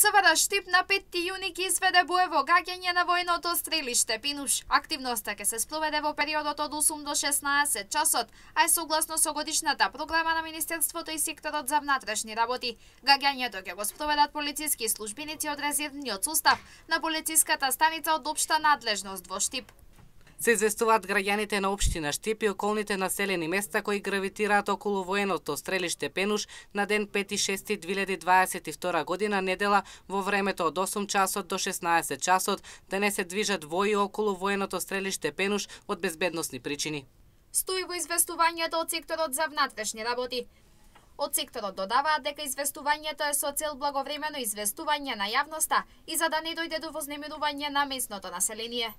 СВР Штип на 5 јуни ќе изведе боево гаѓање на војното стрелиште Пинуш. Активноста ќе се спроведе во периодот од 8 до 16 часот, а е согласно со годишната програма на Министерството и секторот за внатрешни работи. Гаѓањето ќе го спроведат полициски службеници од резервниот состав на полициската станица од општа надлежност во Штип. Се известуваат граѓаните на општина Штип и околните населени места кои гравитираат околу военото стрелиште Пенуш на ден 5.6.2022 година недела во времето од 8 часот до 16 часот да не се движат вои околу военото стрелиште Пенуш од безбедносни причини. Стои во известувањето од секторот за внатрешни работи. Од секторот додаваат дека известувањето е со цел благовремено известување на јавноста и за да не дојде до вознемирување на местното население.